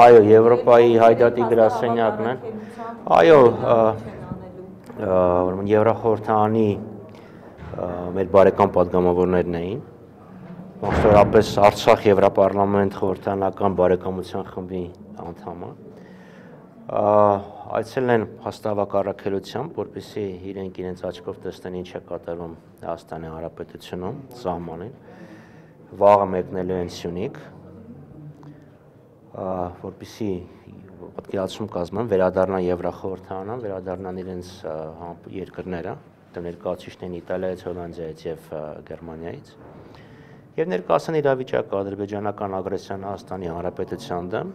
Այո, Եվրոպայի հայդատի գրասենյակն է։ Այո, ուրեմն Եվրախորհրդանի մեր բարեկամ падգամավորներն էին։ Մասնավորապես Արցախ Եվրապարլամենտ խորհրդանական բարեկամության խմբի անդամը։ Այցելել են հաստավակ առաքելությամբ, որպեսզի իրենց աչքով տեսնեն ինչ է կատարվում Հայաստանի Հանրապետությունում, սահմանին։ Վաղը մեկնելու են Սյունիք, որպեսզի պատկերացում կազմեն, վերադառնան Եվրախորհրդանան, վերադառնան իրենց երկրները, ներկայացուցիչներն Իտալիայից, Հոլանդիայից եւ Գերմանիայից, եւ ներկայացան իրավիճակը ադրբեջանական ագրեսիան Հայաստանի Հանրապետության դեմ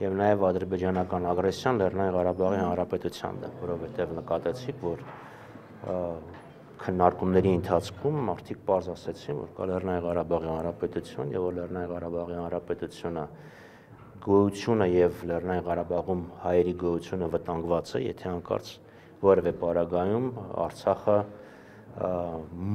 եւ նաեւ ադրբեջանական ագրեսիան Լեռնային Ղարաբաղի Հանրապետության դեմ, որովհետեւ նկատեցիք, որ քննարկումների ընթացքում մարդիկ պարզ ասացին, որ կա Լեռնային Ղարաբաղի Հանրապետություն եւ որ Լեռնային Ղարաբաղի Հանրապետությունը գոյությունը եւ Լեռնային Ղարաբաղում հայերի գոյությունը վտանգված է, եթե հանկարծ որևէ պարագայում Արցախը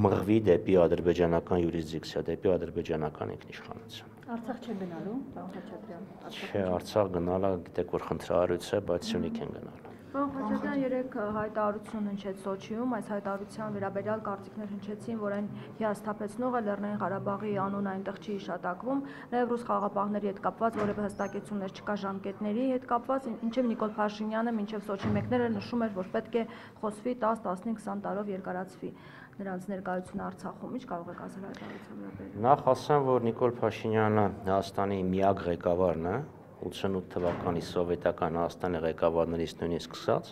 մղվի դեպի ադրբեջանական յուրիսդիկցիա, դեպի ադրբեջանական ինքնիշխանություն։ Արցախ չեն գնալու, պարոն Խաչատրյան։ Չէ, Արցախ գնալը գիտեք որ խնդրահարույց է, բայց Սյունիք են գնալու։ Պարոն Խաչատրյան, երեք հայտարարություն հնչեց Սոչիում, այս հայտարարության վերաբերյալ կարծիքներ հնչեցին, որ այն հիասթափեցնող է Լեռնային Ղարաբաղի անուն այնտեղ չի հիշատակվում, նաև ռուս խաղաղապահների հետ կապված որևէ հստակեցումներ չկա ժամկետների հետ կապված, ինչև Նիկոլ Փաշինյանը մինչև Սոչի մեկները նշում էր, որ պետք է խոսվի 10, 15, 20 տարով երկարացվի նրանց ներկայությունը Արցախում, ինչ կարող եք ասել հայտարարության վերաբերյալ։ Նախ ասեմ, որ Նիկոլ Փաշինյանը Հայաստանի միակ ղեկավարն է, 88 թվականի սովետական Հայաստանի ղեկավարներից նույնիսկ սկսած,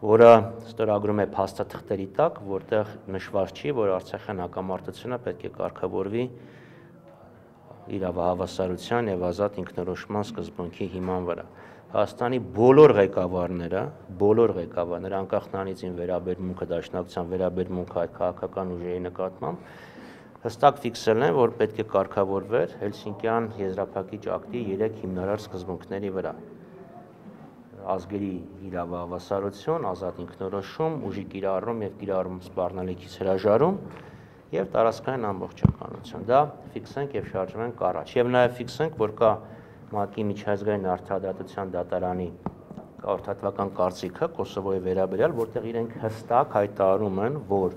որը ստորագրում է փաստաթղթերի տակ, որտեղ նշված չի, որ Արցախյան հակամարտությունը պետք է կարգավորվի իրավահավասարության եւ ազատ ինքնորոշման սկզբունքի հիման վրա։ Հայաստանի բոլոր ղեկավարները, անկախ նրանից ին վերաբերմունքը, դաշնակցության վերաբերմունքը այդ քաղաքական ուժերի նկատմամբ, հստակ ֆիքսել են, որ պետք է կարգավորվեր Հելսինկյան եզրափակիչ ակտի 3 հիմնարար սկզբունքների վրա. ազգերի իրավահավասարություն, ազատ ինքնորոշում, ուժի կիրառում եւ կիրառում սպառնալիքից հրաժարում եւ տարածքային ամբողջականություն։ Դա ֆիքսենք եւ շարժվենք առաջ։ Եվ նաեւ ֆիքսենք, որ կա ՄԱԿ-ի միջազգային արդարադատության դատարանի խորհրդատվական կարծիքը Կոսովոյի վերաբերյալ, որտեղ իրենք հստակ հայտարարում են, որ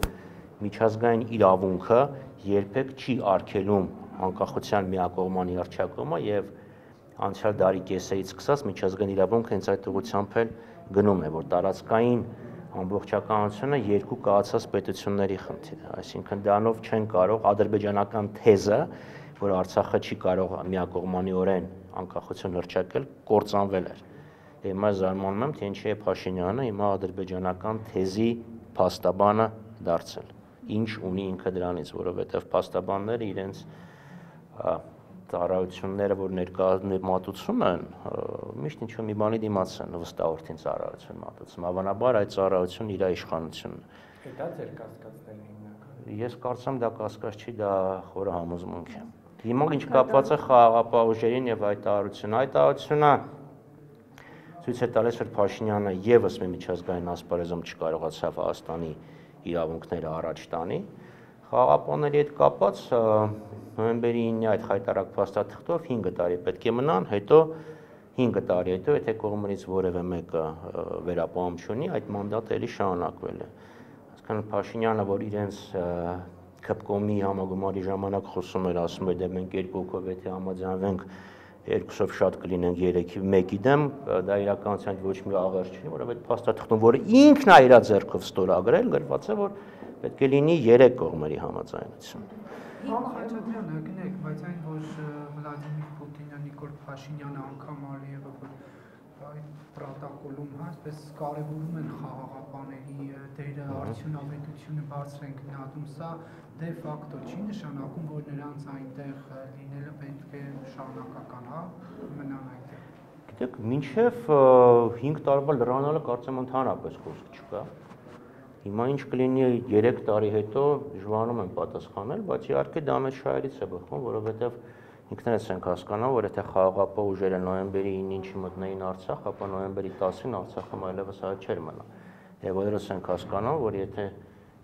միջազգային իրավունքը երբեք չի արգելում անկախության միակողմանի հռչակումը եւ անցյալ դարի կեսերից սկսած միջազգային իրավունքը հենց այդ ուղղությամբ էլ գնում է, որ տարածքային ամբողջականությունը երկու կայացած պետությունների խնդիր է, այսինքն դրանով չեն կարող ադրբեջանական թեզը, որ Արցախը չի կարող միակողմանիորեն անկախություն հռչակել, կործանվել էր։ Հիմա զարմանում եմ, թե ինչի է Փաշինյանը հիմա ադրբեջանական թեզի փաստաբանը դարձել։ Ինչ ունի ինքը դրանից, որովհետև փաստաբանները իրենց ծառայությունները, որ ներկայացում են, միշտ ինչ-որ մի բանի դիմաց են վստահորդին ծառայություն մատուցում։ Հավանաբար այդ ծառայությունն իր իշխանությունն է։ Դա ձեր կասկածներն են հիմնականում։ Ես կարծեմ դա կասկած չի, դա խորը համոզմունք է։ Հիմա ինչ կապված է խաղաղապահ ուժերին եւ հայտարարությունը ցույց է տալիս, որ Փաշինյանը եւս մի միջազգային ասպարեզում չկարողացավ Հայաստանի իրավունքները առաջ տանի։ Խաղաղապահների հետ կապված նոյեմբերի 9-ի այդ խայտարակ փաստաթղթով 5 տարի պետք է մնան, հետո 5 տարի հետո, եթե կողմից որևէ մեկը վերապահում չունի, այդ մանդատը էլի շարունակվել է։ Այսինքն Փաշինյանը, որ իրենց ԿՊԿՕՄ-ի համագումարի ժամանակ խոսում էր, ասում էր, դե մենք երկու հոգով եթե համաձայնվենք, երկուսով շատ կլինենք 3-ի 1-ի դեմ, դա իրականության ոչ մի աղերս չի, որովհետեւ փաստաթղթում, որը ինքն է իր ձեռքով ստորագրել, գրված է, որ պետք է լինի 3 կողմերի համաձայնություն։ Պարոն Խաչատրյան, գնեք, բայց այն որ Վլադիմիր Պուտինը, Նիկոլ Փաշինյանը անգամ արիևը այդ պրոտոկոլում այսպես կարևորում են խաղաղապահների դերը, արդյունավետությունը բարձր են գնահատում, սա դե ֆակտո չի նշանակում, որ նրանց այնտեղ լինելը պետք է շարունակական, մնան այնտեղ։ Գիտեք, մինչև 5 տարվա լրանալը կարծեմ ընդհանրապես խոսք չկա։ Հիմա ինչ կլինի 3 տարի հետո դժվարանում են պատասխանել, բայց իհարկե դա մեծ շահերից է բխում, որովհետև ինքներս ենք հասկանում, որ եթե խաղաղապահ ուժերը նոյեմբերի 9-ի մտնեին Արցախ, ապա նոյեմբերի 10-ին Արցախում այլևս այլ չէր մնա։ Եվ բոլորս ենք հասկանում, որ եթե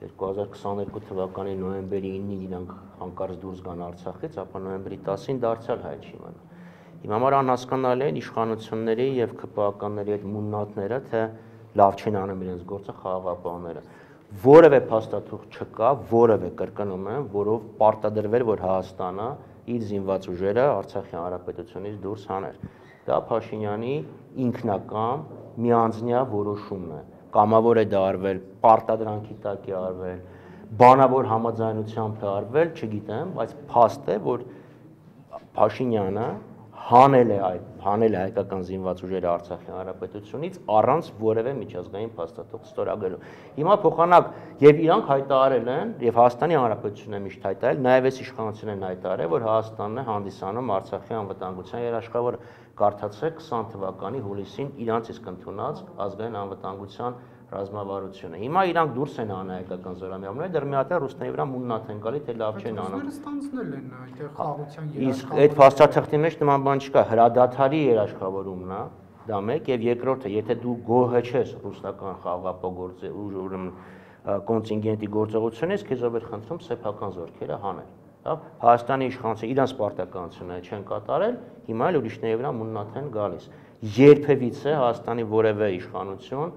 2022 թվականի նոյեմբերի 9-ին իրանք հանկարծ դուրս գան Արցախից, ապա նոյեմբերի 10-ին դարձյալ հայ չիմանա։ Իմ համար անհասկանալի է իշխանությունների եւ ԿՊԱ-կանների այդ մուննաթները, թե լավ չեն անում իրենց գործը խաղաղապահները։ Որևէ փաստաթուղթ չկա, որևէ կրկնում եմ, որով պարտադրվել, որ Հայաստանը իր զինված ուժերը Արցախի հանրապետությունից դուրս հաներ։ Դա Փաշինյանի ինքնական միանձնյա որոշումն է։ Կամավոր է դա արվել, պարտադրանքի տակ է արվել, բանավոր համաձայնությամբ է արվել, չգիտեմ, բայց փաստ է, որ Փաշինյանը հանել է հայկական զինված ուժերը Արցախի հանրապետությունից առանց որևէ միջազգային փաստաթուղթ ստորագրելու։ Հիմա փոխանակ եւ իրանք հայտարարել են եւ Հայաստանի հանրապետությունն է միշտ հայտարարել, նաեւ այս իշխանությունն են հայտարարել, որ Հայաստանն է հանդիսանում Արցախի անվտանգության երաշխավորը։ Կարդացեք 20 թվականի հուլիսին իրանց իսկ ընդունած ազգային անվտանգության ռազմավարությունը։ Հիմա իրանք դուրս են անում հայկական զորամիավորները, դեռ մի հատ է ռուսների վրա մուննաթ են գալի, թե լավ չեն անում։ Ստանցնել են այդտեղ խաղաղության Իսկ այդ փաստաթղթի մեջ նման բան չկա, հրադադարի երաշխավորումն է, դա մեկ, եւ երկրորդը, եթե դու գոհ չես ռուսական խաղաղապահ կոնտինգենտի գործողությունից, քեզ ով է խնդրում սեփական զորքերը հանել։ Հայաստանի իշխանությունը իրանց պարտականությունը չեն կատարել, հիմա էլ ուրիշների վրա մուննաթ են գալիս։ Երբևիցե Հայաստանի որևէ իշխանություն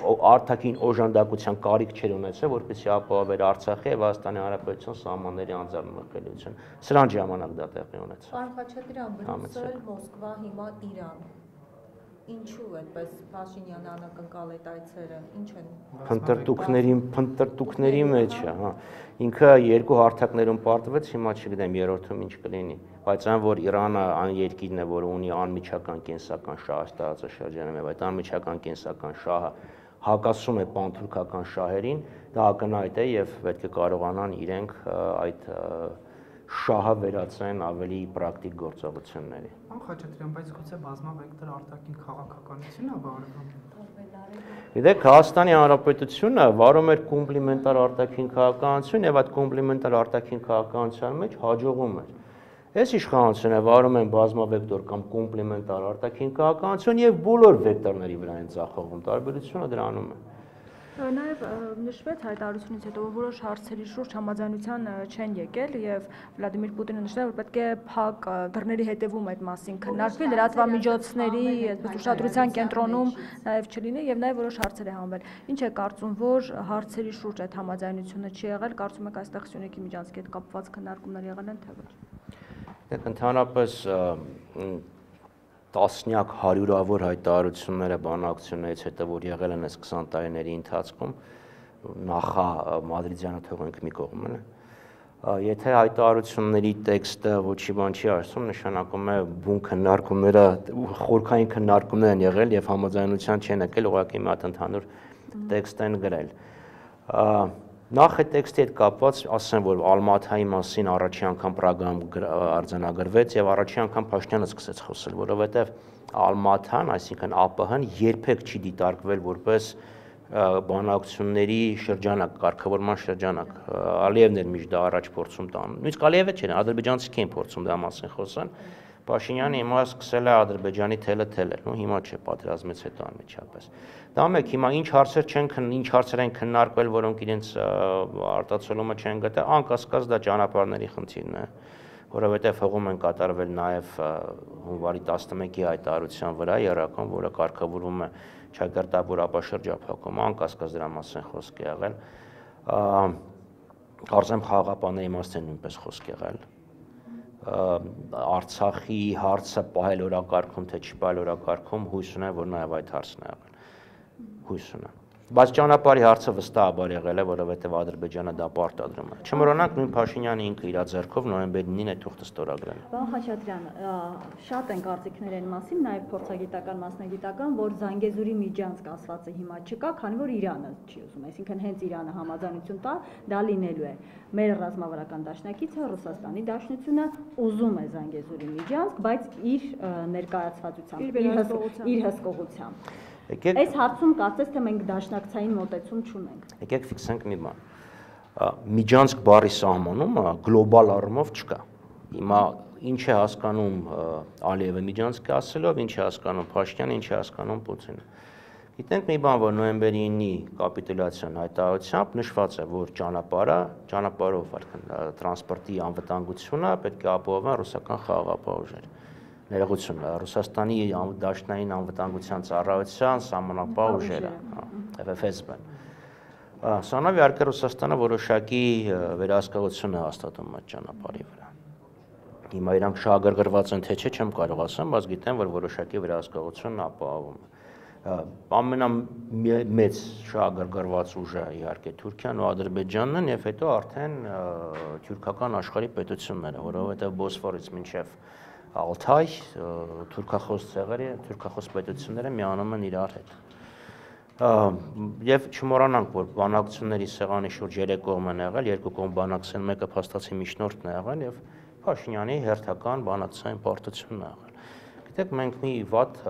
արտաքին օժանդակության կարիք չեր ունեցել, որպեսզի ապահովեր Արցախի եւ Հայաստանի Հանրապետության սահմանների անձեռնմխելիությունը։ Սրան ժամանակ դա տեղի ունեցավ։ Պարոն Խաչատրյան, Բրյուսել, Մոսկվա, հիմա Իրան։ Ինչու այդպես Փաշինյանը անակնկալ այդ այցերը, ինչ են։ Փնտրտուքների մեջ է, հա։ Ինքը երկու հարթակներում պարտվեց, հիմա չգիտեմ երրորդում ինչ կլինի, բայց այն որ Իրանը այն երկիրն է, որ ունի անմիջական կենսական շահ տարածաշրջանում եւ այդ անմիջական կենսական շահը հակասում է պանթուրքական շահերին, դա ակնհայտ է եւ պետք է կարողանան իրենք այդ շահը վերածեն ավելի պրակտիկ գործողությունների։ Պարոն Խաչատրյան, բայց գուցե բազմավեկտոր արտաքին քաղաքականությունն է վարվում։ Գիտեք, Հայաստանի Հանրապետությունը վարում էր կոմպլիմենտար արտաքին քաղաքականություն եւ այդ կոմպլիմենտար արտաքին քաղաքականության մեջ հաջողում էր։ Այս իշխանությունը վարում են բազմավեկտոր կամ կոմպլիմենտար արտաքին քաղաքականություն եւ բոլոր վեկտորների վրա են ձախողում, տարբերությունը դրանում է։ Նաև նշվեց հայտարարությունից հետո, որ որոշ հարցերի շուրջ համաձայնության չեն եկել եւ Վլադիմիր Պուտինը նշել, որ պետք է փակ դռների հետևում այդ մասին քննարկվի, լրատվամիջոցների այդպես ուշադրության կենտրոնում նաև չլինի եւ նաև որոշ հարցեր է հանվել։ Ինչ է կարծում, որ հարցերի շուրջ այդ համաձայնությունը չի եղել, կարծում եք այստեղ Սյունիքի միջանցքի հետ կապված քննարկումներ եղել են թե ոչ։ Դեք ընդհանրապես տասնյակ հարյուրավոր հայտարարությունները բանակցություններից հետո որ եղել են այս 20 տարիների ընթացքում նախա մադրիդյանը թողենք մի կողմ է եթե հայտարարությունների տեքստը ոչի բան չի ասում նշանակում է բուն քննարկումները խորքային քննարկումներ են եղել եւ համաձայնության չեն եկել ուղղակի մի հատ ընդհանուր տեքստ են գրել Նախ այդ տեքստի հետ կապված ասեմ, որ Ալմաթայի մասին առաջի անգամ Պրագայում արձանագրվեց եւ առաջի անգամ Փաշինյանը սկսեց խոսել, որովհետեւ Ալմաթան, այսինքն ԱՊՀ-ն երբեք չի դիտարկվել որպես բանակցությունների շրջանակ, կարգավորման շրջանակ։ Ալիևն էր միշտ դա առաջ փորձում տան։ Նույնիսկ Ալիևը չէ, ադրբեջանցիք էին փորձում դա մասին խոսան։ Փաշինյանը հիմա սկսել է Ադրբեջանի թելը թելել, նո հիմա չէ, պատերազմից հետո անմիջապես։ Դա մեկ, հիմա ինչ հարցեր են քննարկվել, որոնք իրենց արտացոլումը չեն գտել, անկասկած դա ճանապարհների խնդիրն է, որովհետև հողում են կատարվել նաև հունվարի 11-ի հայտարարության վրա երական, որը կարգավորվում է Չակերտաբուր ապաշրջափակումը, անկասկած դրա մասին խոսք է եղել։ Կարծեմ խաղաղապահների մասին նույնպես խոսք եղել։ Արցախի հարցը պահել օրակարգում թե չպահել օրակարգում հույս ունեմ, որ նաև այդ հարցն է եղել։ Հույս ունեմ։ Բայց ճանապարհի հարցը վստահաբար եղել է, որովհետև Ադրբեջանը դա պարտադրում է։ Չմոռանանք նույն Փաշինյանը ինքը իր ձեռքով նոյեմբերի 9-ին այդ թուղթը ստորագրել է։ Պարոն Խաչատրյան, շատ են կարծիքներ այն մասին, նաև փորձագիտական, մասնագիտական, որ Զանգեզուրի միջանցք ասվածը հիմա չկա, քանի որ Իրանը չի ուզում, այսինքն հենց Իրանը համաձայնություն տա, դա լինելու է։ Մեր ռազմավարական դաշնակիցը Ռուսաստանի Դաշնությունը ուզում է Զանգեզուրի միջանցք, բայց իր ներկայացվածությամբ, իր հսկողությամբ։ Այս հարցում կարծես թե մենք դաշնակցային մոտեցում չունենք։ Եկեք ֆիքսենք մի բան։ Միջանցք բառի սահմանումը գլոբալ առումով չկա։ Հիմա ինչ է հասկանում Ալիևը միջանցք ասելով, ինչ է հասկանում Փաշինյանը, ինչ է հասկանում Պուտինը։ Գիտենք մի բան, որ նոյեմբերի 9-ի կապիտուլյացիոն հայտարարությամբ նշված է, որ ճանապարհով տրանսպորտի անվտանգությունը պետք է ապահովեն ռուսական խաղաղապահ ուժերը։ Ներողություն, Ռուսաստանի դաշնային անվտանգության ծառայության սահմանապահ ուժերը, FSB-ն։ Սանավ իհարկե Ռուսաստանը որոշակի վերահսկողություն է հաստատում այդ ճանապարհի վրա։ Հիմա իրանք շահագրգռված են թե չէ, չեմ կարող ասեմ, բայց գիտեմ, որ որոշակի վերահսկողություն ապահովում է։ Ամենամեծ շահագրգռված ուժը իհարկե Թուրքիան ու Ադրբեջանն են եւ հետո արդեն թուրքական աշխարհի պետությունները, որովհետեւ Բոսֆորից մինչեւ Ալթայ թուրքախոս ցեղերը, թուրքախոս պետությունները միանում են իրար հետ։ Եվ չմոռանանք, որ բանակցությունների սեղանի շուրջ 3 կողմ են եղել, 2 կողմ բանակցեն, մեկը փաստացի միջնորդն է եղել եւ Փաշինյանի հերթական բանակցային պարտությունն է եղել։ Գիտեք, մենք մի վատ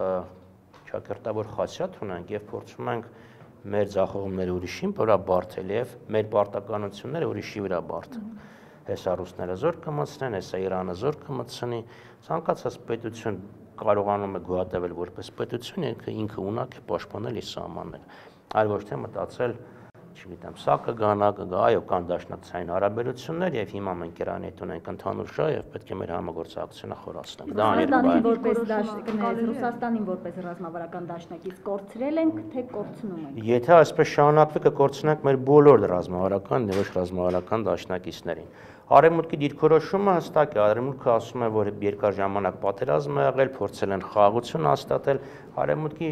ճակերտավոր խասյաթ ունենք եւ փորձում ենք մեր ձախողումները ուրիշին վրա բարթել եւ մեր պարտականությունները ուրիշի վրա բարթել։ Հեսա ռուսները զոր կմտցնեն, հեսա Իրանը զոր կմտցնի, ցանկացած պետություն կարողանում է գոյատևել որպես պետություն, ինքը ունակ է պաշտպանել իր սահմանները, այլ ոչ թե մտածել, չգիտեմ, սա կգա, այո, կան դաշնակցային հարաբերություններ եւ հիմա մենք Իրանի հետ ունենք ընդհանուր շահ եւ պետք է մեր համագործակցությունը խորացնենք։ Դա Ռուսաստանին որպես դաշնակից, Ռուսաստանին որպես ռազմավարական դաշնակից կորցրել ենք, թե կորցնում ենք։ Եթե այսպես շարունակվի կկորցնենք մեր բոլոր ռազմավարական եւ ոչ ռազմավարական դաշնակիցներին։ Արևմուտքի դիրքորոշումը հստակ է, Արևմուտքը ասում է, որ երկար ժամանակ պատերազմ է եղել, փորձել են խաղաղություն հաստատել, Արևմուտքի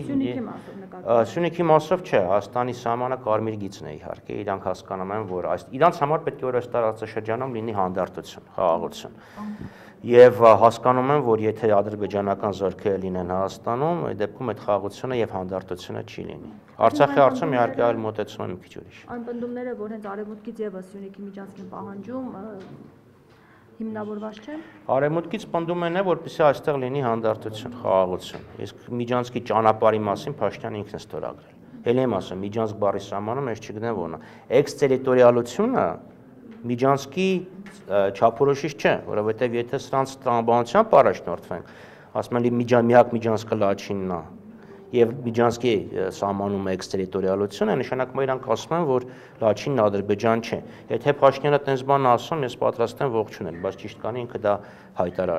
Սյունիքի մասով չէ, Հայաստանի սահմանը կարմիր գիծն է իհարկե, իրանք հասկանում են, որ իրանց համար պետք է որ այս տարածաշրջանում լինի հանդարտություն, խաղաղություն։ Եվ հասկանում են, որ եթե ադրբեջանական զորքերը լինեն Հայաստանում, այդ դեպքում այդ խաղաղությունը եւ հանդարտությունը չի լինի։ Արցախի հարցում իհարկե այլ մոտեցում է մի քիչ ուրիշ։ Այն պնդումները, որ հենց արևմուտքից եւս Սյունիքի միջանցքին պահանջում հիմնավորված չեն։ Արևմուտքից պնդում են, որպեսզի այստեղ լինի հանդարտություն, խաղաղություն։ Իսկ միջանցքի ճանապարհի մասին Փաշինյանը ինքն է ստորագրել։ Էլ եմ ասում, միջանցք բառի սահմանում ես չգնեմ որն է։ Էքստերիտորիալությունը միջանցքի չափորոշիչ չէ, որովհետև եթե սրանց տրամաբանությամբ առաջնորդվենք, ասում են միակ միջանցքը Լաչինն է, եւ միջանցքի սահմանում էքստերիտորիալությունը, նշանակում է իրանք ասում են, որ Լաչինն Ադրբեջան չէ։ Եթե Փաշինյանը տենց բան ասում, ես պատրաստ եմ ողջունել, բայց ճիշտ կանի ինքը դա հայտարարի։